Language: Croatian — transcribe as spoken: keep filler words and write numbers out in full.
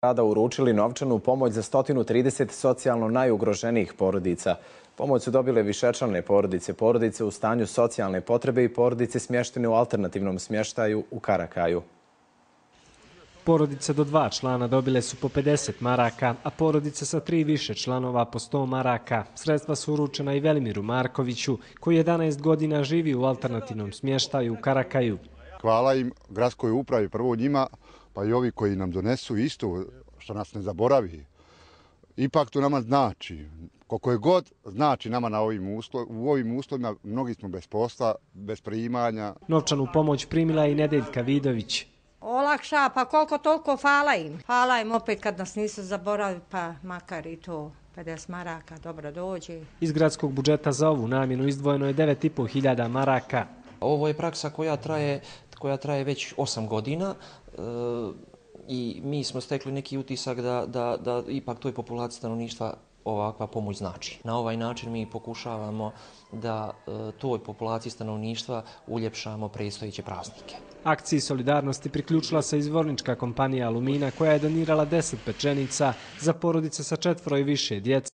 Grada uručili novčanu pomoć za sto trideset socijalno najugroženijih porodica. Pomoć su dobile višečlane porodice, porodice u stanju socijalne potrebe i porodice smještene u alternativnom smještaju u Karakaju. Porodice do dva člana dobile su po pedeset maraka, a porodice sa tri više članova po sto maraka. Sredstva su uručena i Velimiru Markoviću, koji jedanaest godina živi u alternativnom smještaju u Karakaju. Hvala im, gradskoj upravi, prvo njima, pa i ovi koji nam donesu isto, što nas ne zaboravi. Ipak to nama znači, koliko je god znači nama na ovim uslo, u ovim uslovima, mnogi smo bez posla, bez primanja. Novčanu pomoć primila i Nedeljka Vidović. Olakša, pa koliko toliko hvala im. Hvala im opet kad nas nisu zaboravili, pa makar i to pedeset maraka dobro dođe. Iz gradskog budžeta za ovu namjenu izdvojeno je devet i po hiljada maraka. Ovo je praksa koja traje, koja traje već osam godina e, i mi smo stekli neki utisak da, da, da ipak toj populaciji stanovništva ovakva pomoć znači. Na ovaj način mi pokušavamo da e, toj populaciji stanovništva uljepšamo predstojeće praznike. Akciji solidarnosti priključila se izvornička kompanija Alumina koja je donirala deset pečenica za porodice sa četvoro i više djece.